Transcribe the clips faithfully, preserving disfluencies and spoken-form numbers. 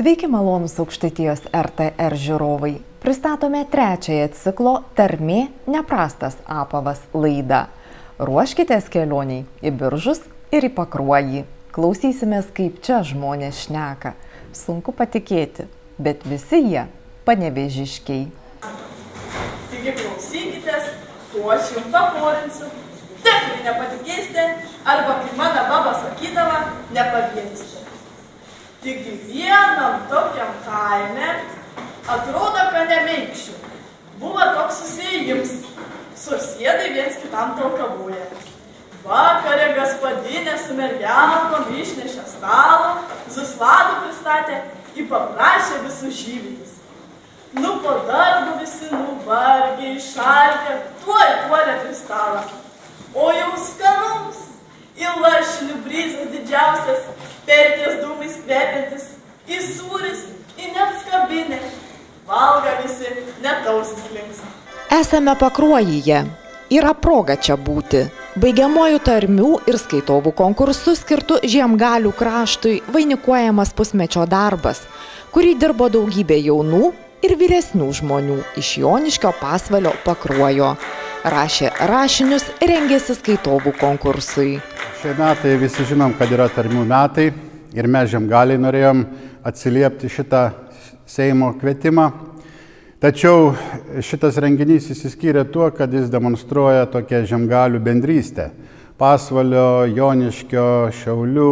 Sveiki malonūs Aukštaitijos R T R žiūrovai. Pristatome trečiąją ciklo Tarmė neprastas apavas laidą. Ruoškitės kelioniai į Biržus ir į Pakruojį. Klausysimės, kaip čia žmonės šneka. Sunku patikėti, bet visi jie panevėžiškiai. Taigi klausykitės, tuo aš jums paporinsiu. Tikrai nepatikėsite, arba kaip mano baba sakydavo, nepaviensite. Taigi vienam tokiam kaime, atrodo, kad nemeikščių. Buvo toks susėjims, susėdai viens kitam talkavoje. Vakarė gaspadinė su mergiamokom išnešė stalą, Zusladų pristatė, į paprašė visus žyvytis. Nu po darbo visi nuvargė, išalkę, tuoj puolė prie stalą. O jau skanums, į lašinių brizas didžiausias, perties dūmais kvepiantis, į sūris, į net skabinę. Valga visi, net ausis linksma. Esame Pakruojyje. Yra proga čia būti. Baigiamuoju tarmių ir skaitovų konkursų skirtų Žiemgalių kraštui vainikuojamas pusmečio darbas, kurį dirbo daugybė jaunų ir vyresnių žmonių iš Joniškio, Pasvalio, Pakruojo. Rašė rašinius, rengėsi skaitovų konkursui. Šie metai visi žinom, kad yra tarmių metai ir mes Žiemgaliai norėjom atsiliepti šitą Seimo kvietimą. Tačiau šitas renginys įsiskyrė tuo, kad jis demonstruoja tokią Žiemgalių bendrystę. Pasvalio, Joniškio, Šiaulių,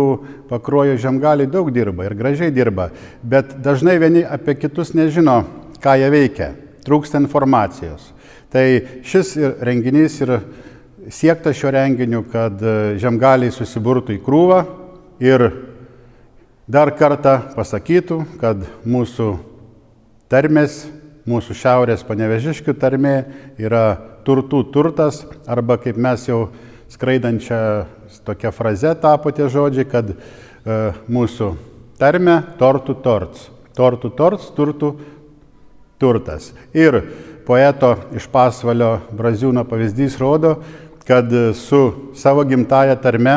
Pakruojo Žiemgaliai daug dirba ir gražiai dirba, bet dažnai vieni apie kitus nežino, ką jie veikia, trūksta informacijos. Tai šis renginys ir siekta šio renginiu, kad Žiemgaliai susiburtų į krūvą ir dar kartą pasakytų, kad mūsų tarmės, mūsų šiaurės panevėžiškių tarmė yra turtų turtas, arba kaip mes jau skraidančią tokią frazę tapo tie žodžiai, kad e, mūsų tarmė tortų torts. Tortų torts, turtų turtas. Ir poeto iš Pasvalio Braziūno pavyzdys rodo, kad su savo gimtaja tarme,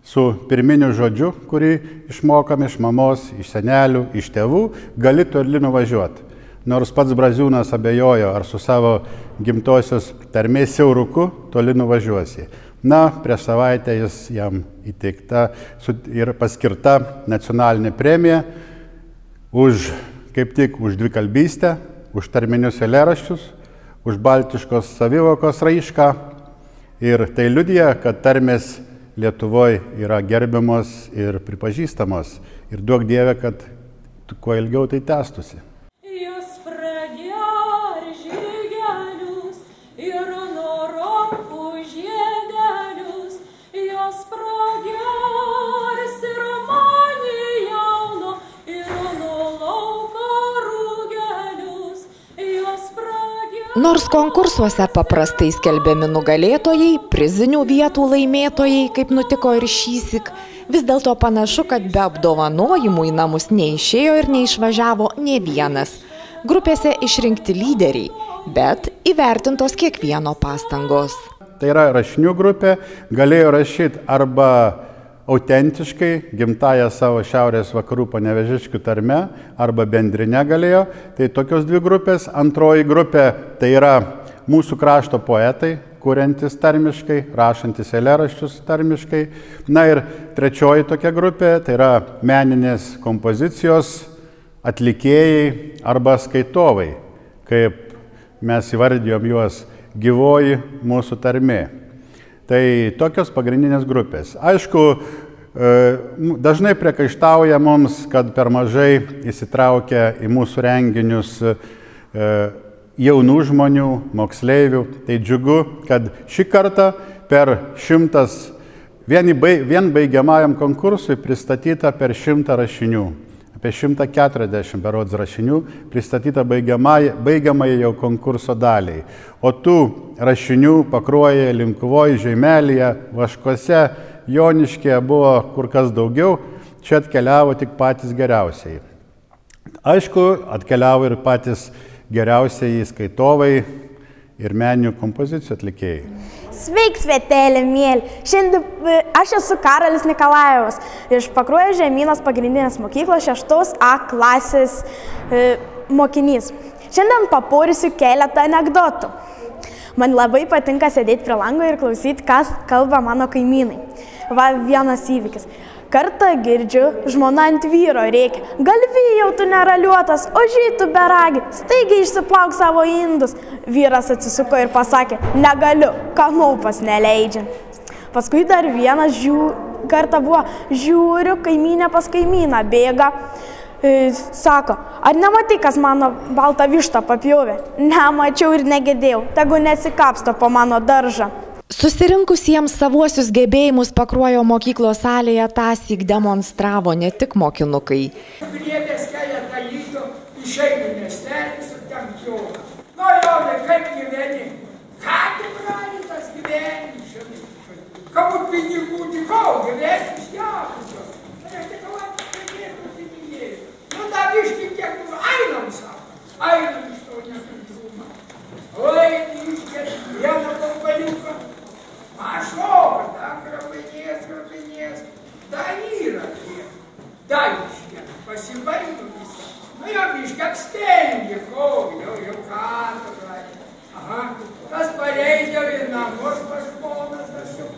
su pirminiu žodžiu, kurį išmokam iš mamos, iš senelių, iš tėvų, gali toli nuvažiuoti. Nors pats Braziūnas abejojo, ar su savo gimtosios tarmės siauruku toli nuvažiuosi. Na, prieš savaitę jis jam įteikta ir paskirta nacionalinė premija už, kaip tik, už dvikalbystę, už tarminius eilėraščius, už baltiškos savivokos raišką. Ir tai liudija, kad tarmės Lietuvoje yra gerbiamos ir pripažįstamos. Ir duok Dieve, kad kuo ilgiau tai tęstųsi. Jos prager žygelius ir norokų žiedelius, jos pragers ir mani jauno ir nuo lauko rūgelius, jos pragers. Nors konkursuose paprastai skelbiami nugalėtojai, prizinių vietų laimėtojai, kaip nutiko ir šįsyk, vis dėlto panašu, kad be apdovanojimų į namus neišėjo ir neišvažiavo nė vienas. Grupėse išrinkti lyderiai, bet įvertintos kiekvieno pastangos. Tai yra rašinių grupė, galėjo rašyti arba autentiškai, gimtają savo šiaurės vakarų panevėžiškių tarme, arba bendrinę galėjo. Tai tokios dvi grupės. Antroji grupė tai yra mūsų krašto poetai, kuriantis tarmiškai, rašantis eilėraščius tarmiškai. Na ir trečioji tokia grupė tai yra meninės kompozicijos atlikėjai arba skaitovai, kaip mes įvardijom juos gyvoji mūsų tarmė. Tai tokios pagrindinės grupės. Aišku, dažnai priekaištauja mums, kad per mažai įsitraukia į mūsų renginius jaunų žmonių, moksleivių. Tai džiugu, kad šį kartą per šimtas, vien, vien baigiamajam konkursui pristatyta per šimtą rašinių. Apie šimtą keturiasdešimt berods rašinių pristatyta baigiamai jau konkurso daliai. O tų rašinių Pakruoje, Linkuvoje, Žeimelėje, Vaškuose, Joniškyje buvo kur kas daugiau. Čia atkeliavo tik patys geriausiai. Aišku, atkeliavo ir patys geriausiai skaitovai ir meninių kompozicijų atlikėjai. Sveik, Svetėlė, mėly. Šiandien aš esu Karolis Nikolajevas iš Pakruojo žemynos pagrindinės mokyklos šeštos A klasės e, mokinys. Šiandien papūrysiu keletą anekdotų. Man labai patinka sėdėti prie lango ir klausyti, kas kalba mano kaimynai. Va, vienas įvykis. Kartą girdžiu, žmona ant vyro reikia. Galvijau, tu neraliuotas, ožiai tu beragi, staigiai išsiplauk savo indus. Vyras atsisuko ir pasakė, negaliu, kanaupas neleidžia. Paskui dar vienas žiū, kartą buvo, žiūriu, kaimynė pas kaimyną bėga. E, sako, ar nematai, kas mano baltą vištą papjovė? Nemačiau ir negirdėjau, tegu nesikapsto po mano daržą. Susirinkusiems savuosius gebėjimus Pakruojo mokyklos salėje tąsyk demonstravo ne tik mokinukai. Griebės keletą lygių, išeina miestelis ir ten pjova. Nu, Jonai, kaip gyveni? Ką tai brali tas gyvenis? Kamu pinigų tikau, gyvenis jakusio. Tai aš tik kalbant, kad niekur pinigėlių. Nu, da biški kiek tu ainam sako. Ainam iš to nekantrumą. Oi, iškėt vieną kompaniuką. Mažoka, da, krapinės, krapinės, da yra tiek, da iškėt, pasibaitų visą. Nu, jau iškėt stengi, kol, jau, jau ką tu gali. Aha, tas pareidė į namus pas ponas, tas jau,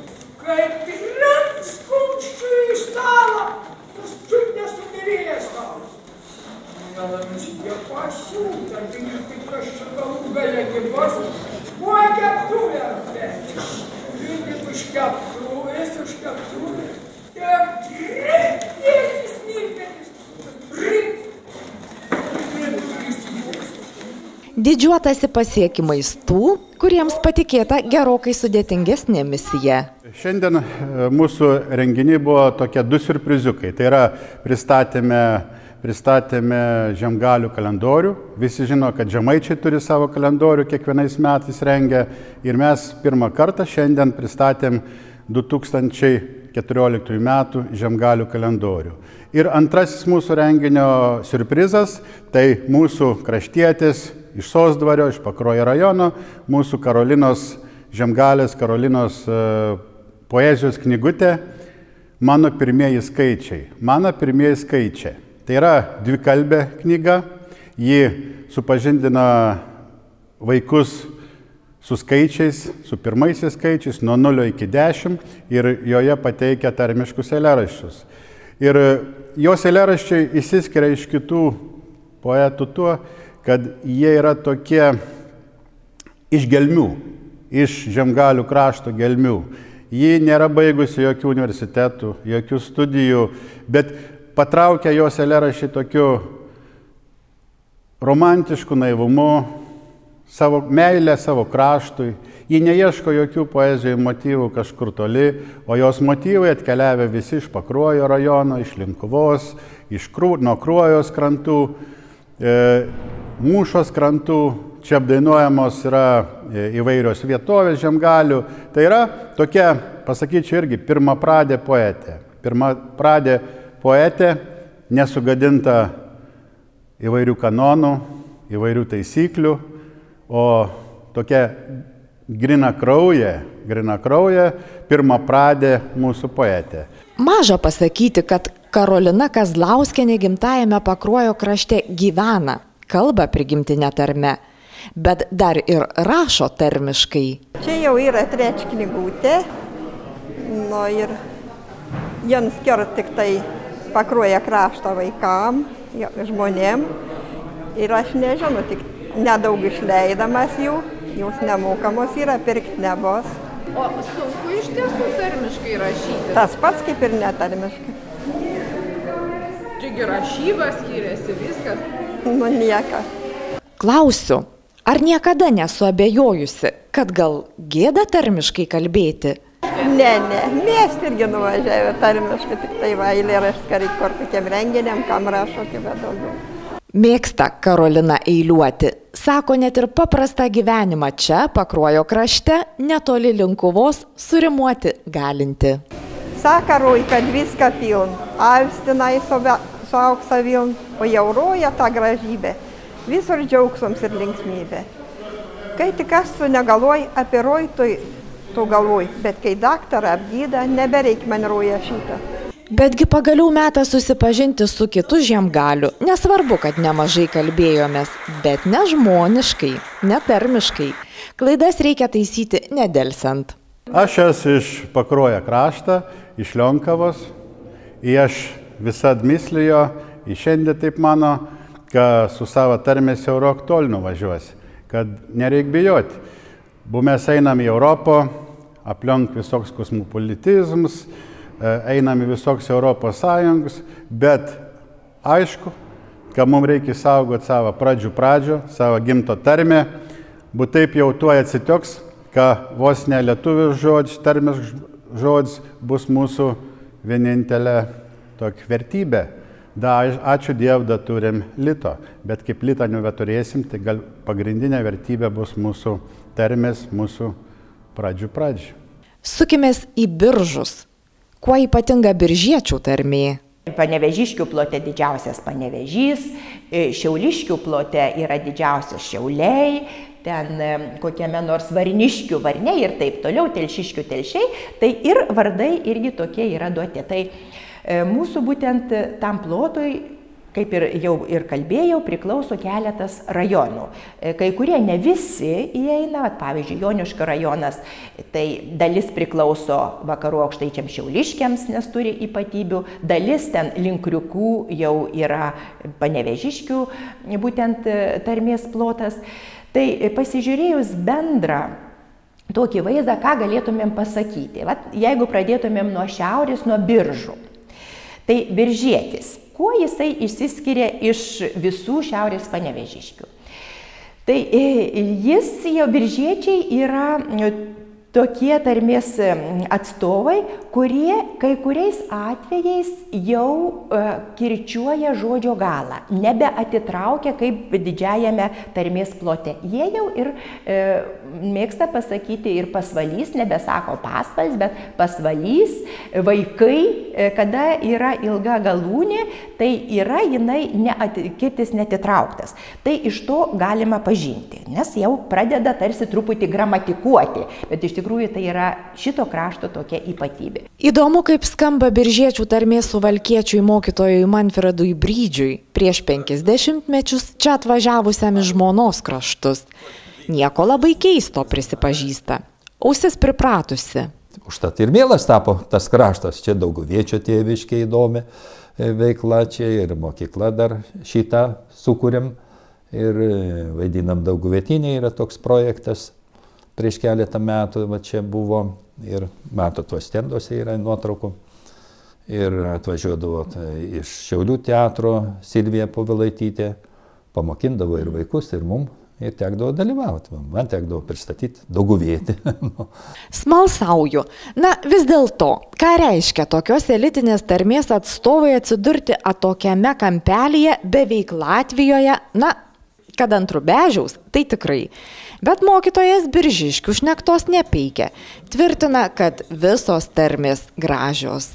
kaip tikrat skumščių į stalą, tas čiut nesumirėjęs stalas. Nelamis, jie pasiūta, tai ir tik aš čia galų galia gibos, buvo keptuvė atvečiu. Žiūrėk, už keptuvės, už keptuvės, ir trik, tiesiai smilpenis, trik, Didžiuotasi pasiekimais tų, kuriems patikėta gerokai sudėtingesnė misija. Šiandien mūsų renginiai buvo tokie du siurpriziukai. Tai yra pristatėme, pristatėme Žiemgalių kalendorių. Visi žino, kad žemaičiai turi savo kalendorių, kiekvienais metais rengia. Ir mes pirmą kartą šiandien pristatėm du tūkstančiai keturioliktųjų metų Žiemgalių kalendorių. Ir antrasis mūsų renginio siurprizas, tai mūsų kraštietis iš Sosdvario, iš Pakruojo rajono, mūsų Karolinos Žiemgalės, Karolinos uh, poezijos knygutė Mano pirmieji skaičiai. Mano pirmieji skaičiai. Tai yra dvikalbė knyga, ji supažindina vaikus su skaičiais, su pirmaisiais skaičiais, nuo nulio iki dešimt ir joje pateikia tarmiškus eilėraščius. Ir jos eilėraščiai išsiskiria iš kitų poetų tuo, kad jie yra tokie iš gelmių, iš Žiemgalių krašto gelmių. Ji nėra baigusi jokių universitetų, jokių studijų, bet patraukia jos eilėraščiai tokiu romantišku naivumu, savo meilę savo kraštui. Ji neieško jokių poezijų motyvų kažkur toli, o jos motyvai atkeliavę visi iš Pakruojo rajono, iš Linkuvos, iš Krū, nuo Kruojos krantų, e, Mūšos krantų. Čia apdainuojamos yra įvairios vietovės Žiemgalių. Tai yra tokia, pasakyčiau irgi, pirmapradė poetė. Pirmapradė poetė, nesugadinta įvairių kanonų, įvairių taisyklių, o tokia grina krauja, grina krauja, pirmapradė mūsų poetė. Maža pasakyti, kad Karolina Kazlauskienė gimtajame Pakruojo krašte gyvena, kalba prigimtinė tarme, bet dar ir rašo tarmiškai. Čia jau yra trečia knygutė, nu ir jiems skirta tik tai Pakruojo krašto vaikam, žmonėm. Ir aš nežinau, tik nedaug išleidamas jų, jūs nemokamos yra, pirkti nebus. O sunku iš tiesų tarmiškai rašyti? Tas pats kaip ir netarmiškai. Taigi rašyba skiriasi, viskas? Nu, nieka. Klausiu, ar niekada nesu abejojusi, kad gal gėda tarmiškai kalbėti? Ne, ne, mes irgi nuvažiavę tarmiškai, tik tai va, eilėraštį kur kokiam renginiam, kam rašo, kaip daugiau. Mėgsta Karolina eiliuoti. Sako, net ir paprastą gyvenimą čia, Pakruojo krašte, netoli Linkuvos, surimuoti galinti. Sakarui, kad viską piln, avstinai su auksa viln, o jau roja tą gražybę, visur džiaugsmas ir linksmybė. Kai tik aš su negalvoj apie roitui tu galvoji, bet kai daktarą apgyda, nebereik man roja šitą. Betgi pagaliau metas susipažinti su kitu Žiemgaliu. Nesvarbu, kad nemažai kalbėjomės, bet nežmoniškai, netarmiškai. Klaidas reikia taisyti nedelsiant. Aš esu iš Pakruojo krašto, iš Lionkavos. Ir aš visad mislijo, ir šiandien taip mano, kad su savo tarmės Eurok tol nuvažiuosi, kad nereik bijoti. Bu mes einam į Europą, aplink visoks kosmopolitizmus, einam į visoks Europos Sąjungus, bet aišku, kad mums reikia saugoti savo pradžių pradžių, savo gimto tarmę, bet taip jau tuo atsitiks, kad vos ne lietuvių žodžius, tarmės žodis bus mūsų vienintelė tokia vertybė. Da, ačiū Dievui, da turim lito, bet kaip litą nebeturėsim, tai gal pagrindinė vertybė bus mūsų tarmės, mūsų pradžių pradžių. Sukimės į Biržus. Kuo ypatinga biržiečių tarmė? Panevežiškių plote didžiausias Panevežys, Šiauliškių plote yra didžiausias Šiauliai, ten kokiame nors Varniškių Varniai ir taip toliau, Telšiškių Telšiai, tai ir vardai irgi tokie yra duoti. Tai mūsų būtent tam plotui, kaip ir jau ir kalbėjau, priklauso keletas rajonų. Kai kurie ne visi įeina, pavyzdžiui, Joniškio rajonas, tai dalis priklauso vakarų aukštaičiams Šiauliškiams, nes turi ypatybių, dalis ten link Kriukų jau yra Panevežiškių būtent tarmės plotas. Tai pasižiūrėjus bendrą tokį vaizdą, ką galėtumėm pasakyti. Vat, jeigu pradėtumėm nuo šiaurės, nuo Biržų, tai biržietis. Kuo jisai išsiskiria iš visų šiaurės Panevežiškių? Tai jis, jau biržiečiai, yra tokie tarmės atstovai, kurie kai kuriais atvejais jau kirčiuoja žodžio galą, nebeatitraukia kaip didžiajame tarmės plote. Jie jau ir e, mėgsta pasakyti ir pasvalys, nebesako pasvals, bet pasvalys, vaikai, kada yra ilga galūnė, tai yra jinai neat, kirtis netitrauktas. Tai iš to galima pažinti, nes jau pradeda tarsi truputį gramatikuoti, bet iš tikrųjų tai yra šito krašto tokia ypatybė. Įdomu, kaip skamba biržiečių tarmė suvalkiečiui mokytojui Manfredui Brydžiui, prieš penkisdešimt mečius čia atvažiavusiam iš žmonos kraštus. Nieko labai keisto, prisipažįsta. Ausis pripratusi. Užtat ir mielas tapo tas kraštas. Čia Dauguviečio tėviškė įdomi veikla, čia ir mokykla dar šitą sukūrėm. Ir vaidinam Dauguvietinė, yra toks projektas. Prieš keletą metų va, čia buvo ir matot, tuos stenduose yra nuotraukų. Ir atvažiuodavo tai, iš Šiaulių teatro Silvija Povilaitytė, pamokindavo ir vaikus, ir mum, ir tekdavo dalyvauti. Man tekdavo pristatyti Dauguvietį. Smalsauju. Na, vis dėlto, ką reiškia tokios elitinės tarmės atstovai atsidurti atokiame kampelyje beveik Latvijoje, na, kad ant Rubežiaus, tai tikrai. Bet mokytojas Biržiškių šnektos nepeikia. Tvirtina, kad visos tarmės gražios.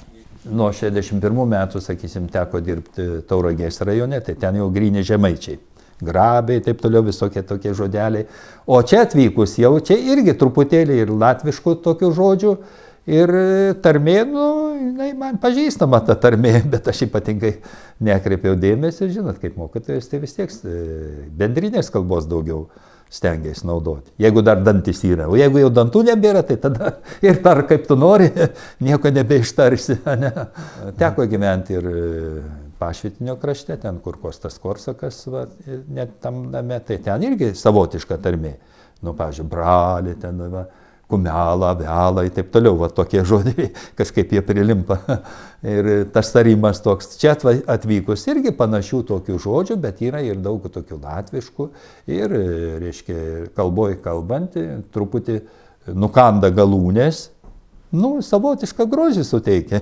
Nuo šešiasdešimt pirmų metų, sakysim, teko dirbti Tauragės rajone, tai ten jau gryni žemaičiai. Grabiai, taip toliau, visokie tokie žodeliai. O čia atvykus jau čia irgi truputėlį ir latviškų tokių žodžių. Ir tarmė, nu, jinai man pažįstama ta tarmė, bet aš ypatingai nekreipiau dėmesį. Žinot, kaip mokytojas, tai vis tiek bendrinės kalbos daugiau stengiasi naudoti. Jeigu dar dantis yra, o jeigu jau dantų nebėra, tai tada ir tar kaip tu nori, nieko nebeištarsi. Ne? Teko gyventi ir Pašvitinio krašte, ten kur Kostas Korsakas, va, net tam name, tai ten irgi savotiška tarmė. Nu, pavyzdžiui, bralė, ten, va, kumelą, velą ir taip toliau, va, tokie žodžiai, kažkaip jie prilimpa. Ir tas tarimas toks, čia atvykus irgi panašių tokių žodžių, bet yra ir daug tokių latviškų ir, reiškia, kalboj kalbant, truputį nukanda galūnės, nu, savotišką grožį suteikia.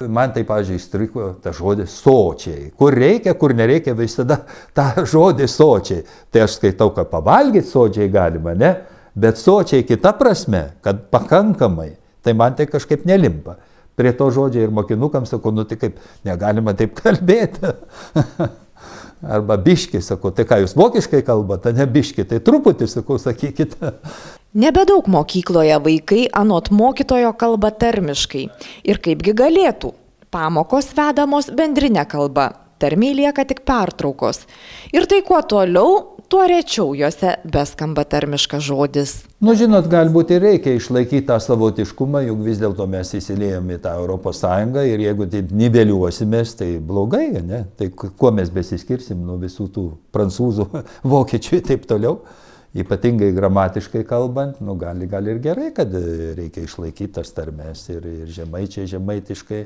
Man tai, pavyzdžiui, įstriko tas žodis sočiai. Kur reikia, kur nereikia, visada tą žodį sočiai. Tai aš skaitau, kad pavalgyti sočiai galima, ne? Bet sočiai kita prasme, kad pakankamai, tai man tai kažkaip nelimpa. Prie to žodžiai ir mokinukams sakau, nu tai kaip, negalima taip kalbėti. Arba biški, sakau, tai ką jūs vokiškai kalbate, ne biški, tai truputį, sakau, sakykite. Nebedaug mokykloje vaikai anot mokytojo kalba tarmiškai. Ir kaipgi galėtų. Pamokos vedamos bendrinė kalba. Tarmiai lieka tik pertraukos. Ir tai kuo toliau, tuo rečiau juose beskamba tarmiškas žodis. Nu, žinot, galbūt ir reikia išlaikyti tą savotiškumą, juk vis dėlto mes įsilėjom į tą Europos Sąjungą ir jeigu taip niveliuosimės, tai blogai, ne? Tai kuo mes besiskirsim nuo visų tų prancūzų, vokiečių ir taip toliau. Ypatingai gramatiškai kalbant, nu, gali, gali ir gerai, kad reikia išlaikyti tas tarmes ir, ir žemaičiai žemaitiškai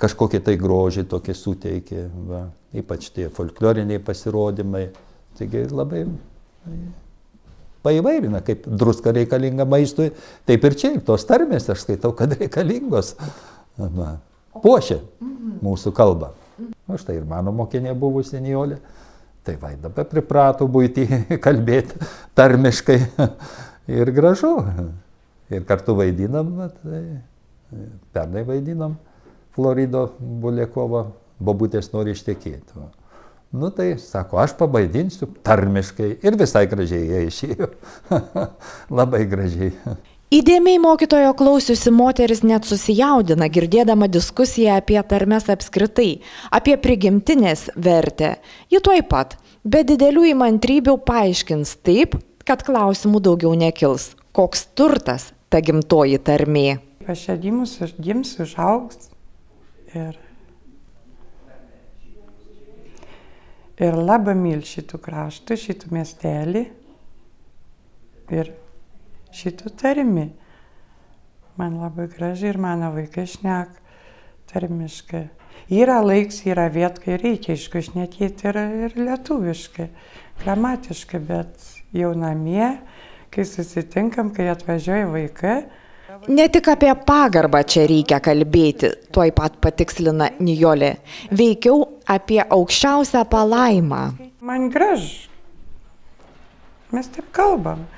kažkokį tai grožį tokį suteikė, va. Ypač tie folkloriniai pasirodymai. Taigi labai paįvairina, kaip druska reikalinga maistui, taip ir čia, ir tos tarmės, aš skaitau, kad reikalingos. Va. Puošia mūsų kalbą. O štai ir mano mokinė buvusi Nijolė. Tai va, dabar priprato buitį kalbėti tarmiškai ir gražu. Ir kartu vaidinam, tai pernai vaidinam Florido Bulekovo Bobutės nori ištekėti. Nu tai, sako, aš pabaidinsiu tarmiškai ir visai gražiai jie išėjo. Labai gražiai. Įdėmiai mokytojo klausiusi moteris net susijaudina, girdėdama diskusiją apie tarmes apskritai, apie prigimtinės vertę. Ji tuoj pat, be didelių įmantrybių paaiškins taip, kad klausimų daugiau nekils. Koks turtas ta gimtoji tarmė? Aš čia gimus, gims, užaugs ir, ir labai myl šitų kraštų, šitų miestelį ir šitų tarmi. Man labai gražiai ir mano vaikai šnek tarmiškai. Yra laiks, yra viet, kai reikia iškušnekėti ir, ir lietuviškai, gramatiškai, bet jau namie, kai susitinkam, kai atvažiuoja vaikai. Ne tik apie pagarbą čia reikia kalbėti, tuoj pat patikslina Nijolė, veikiau apie aukščiausią palaimą. Man gražu. Mes taip kalbam.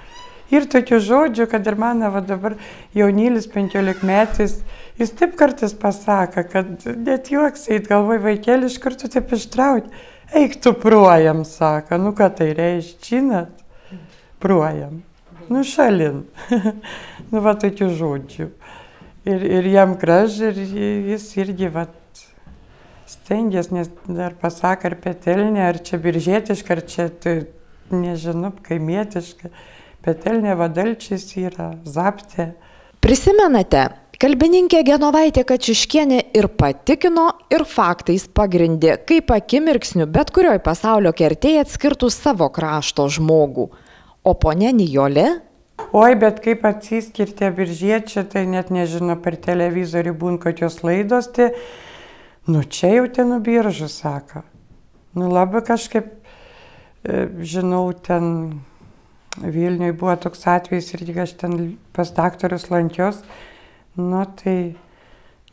Ir tokių žodžių, kad ir mano va dabar jaunylis penkiolikmetis, jis taip kartais pasako, kad net juoks eit, galvoj vaikėlį iš karto taip ištrauti. Eik tu pruojam, sako, nu ką tai reiškia, žinot, pruojam, nu šalin, nu va tokių žodžių. Ir, ir jam gražu, ir jis irgi va stengiasi, nes dar pasako ar petelnė, ar čia biržietiška, ar čia, tai, nežinau, kaimietiška. Petelnė vadalčiais yra, zaptė. Prisimenate, kalbininkė Genovaitė Kačiuškienė ir patikino, ir faktais pagrindė, kaip akimirksniu bet kurioj pasaulio kertėje atskirtų savo krašto žmogų. O ponia Nijolė? Oi, bet kaip atsiskirti biržiečiai, tai net nežinau, per televizorių būn kokios laidos, tai, nu čia jau ten Biržų, sako. Nu labai kažkaip, žinau, ten Vilniuje buvo toks atvejis ir aš ten pas daktarus lankios, nu tai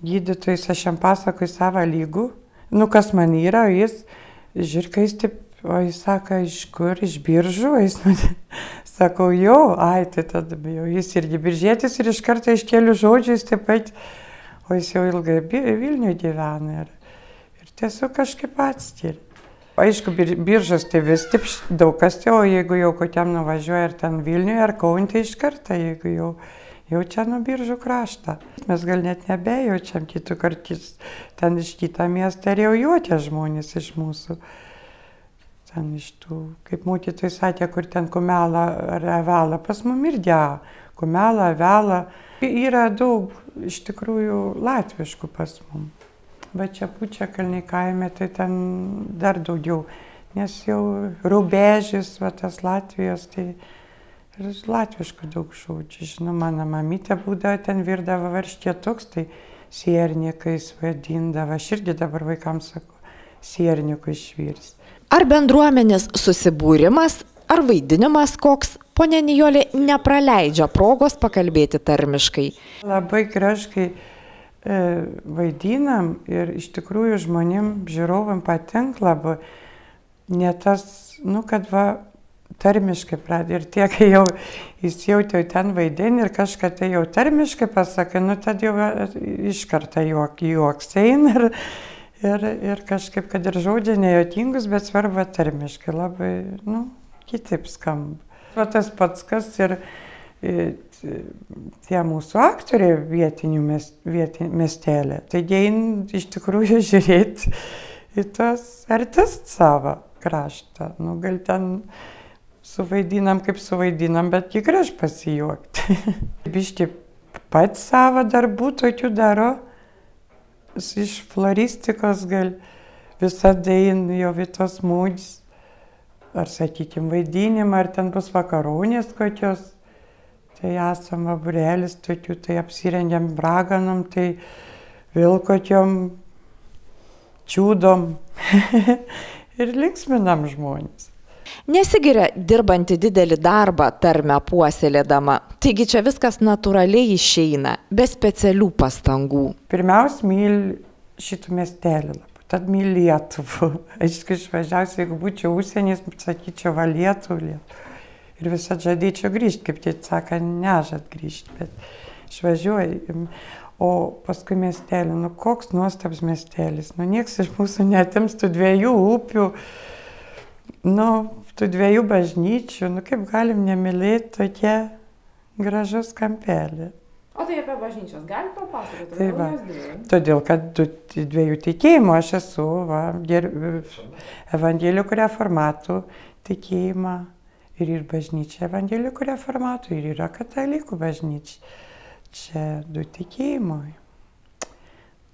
gydytojas aš jam pasakoju savo lygų, nu kas man yra, o jis, žiūrka, jis taip, o jis sako, iš kur, iš Biržų, o jis man, sakau, jo, ai, tai tada bijau, jis irgi biržietis ir iš karto iš kelių žodžių jis taip pat, o jis jau ilgai Vilniuje gyvena ir, ir tiesiog kažkaip atskiri. Aišku, Biržos tai vis taip daug kas, o jeigu jau kokiam nuvažiuoja ar ten Vilniuje, ar Kaune, tai iš karto, jeigu jau, jau čia nuo Biržų kraštą. Mes gal net nebejaučiam kitų kartus, ten iš kitą miestą ir jau juokia žmonės iš mūsų. Ten iš tų, kaip mokytojai sakė, kur ten kumelą ar avelą, pas mum ir dea, kumelą, avelą. Yra daug iš tikrųjų latviškų pas mum. Bet čia Pučiakalniai kaime, tai ten dar daugiau, nes jau Rubežius, va tas Latvijos, tai ir latviškų daug žodžių. Žinau, mano mamytė būdavo, ten virdavo varškė toks, tai siernikais vadindavo. Aš irgi dabar vaikams sakau, siernikų išvirs. Ar bendruomenės susibūrimas, ar vaidinimas koks, ponia Nijolė nepraleidžia progos pakalbėti tarmiškai? Labai gražkai vaidinam ir iš tikrųjų žmonėm, žiūrovam patinka labai, ne tas, nu, kad va, tarmiškai pradė ir tiek jau įsijautė ten vaidinį ir kažką tai jau tarmiškai pasakai, nu, tad jau iš karto juok, juoks eina ir, ir, ir kažkaip, kad ir žodžiai nejotingus, bet svarbu tarmiškai labai, nu, kitaip skamba. Va tas pats kas ir tie mūsų aktoriai vietinių miestelė, tai jie iš tikrųjų žiūrėti į tos artistų savo kraštą. Nu, gal ten suvaidinam, kaip suvaidinam, bet jį graž pasijuokti. Biški pats savo darbų tokių daro, iš floristikos gal visada jo Vitos Mūdis, ar, sakykime, vaidinimą, ar ten bus vakaronės kokios, tai esam vaburėlis tokių, tai apsirengiam braganom, tai vėl kokiom čiūdom ir linksminam žmonės. Nesigiria dirbanti didelį darbą tarmę puoselėdama, taigi čia viskas natūraliai išeina, be specialių pastangų. Pirmiausia, myl šitų miestelį labai, tad myl Lietuvų. Aišku, išvažiausiu, jeigu būčiau užsienys, sakyčiau, va Lietuvų. Ir visą žadėčiau grįžti, kaip tai sako, nežad grįžti, bet išvažiuoju. O paskui miestelį, nu koks nuostabus miestelis, nu nieks iš mūsų netims tų dviejų upių, nu, tų dviejų bažnyčių, nu kaip galim nemylėti tokie gražus kampelį. O tai apie bažnyčios gali papasakoti? Tai va, todėl, kad dviejų tikėjimų aš esu, va, evangelikų reformatų tikėjimą ir ir bažnyčia evangelikų reformatų, ir yra katalikų bažnyčia. Čia du tikėjimai.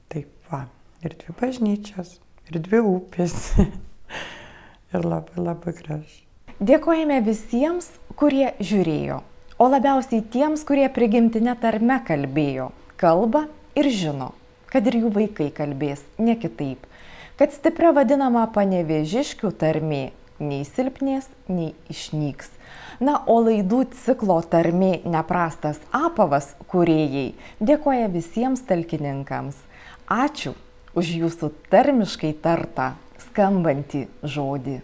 Taip va, ir dvi bažnyčios, ir dvi upės. Ir labai labai gražu. Dėkojame visiems, kurie žiūrėjo, o labiausiai tiems, kurie prigimtinę tarme kalbėjo, kalba ir žino, kad ir jų vaikai kalbės ne kitaip, kad stipria vadinama panevėžiškių tarmė nei silpnės, nei išnyks. Na, o laidų ciklo tarmė neprastas apavas kūrėjai dėkoja visiems talkininkams. Ačiū už jūsų tarmiškai tartą skambantį žodį.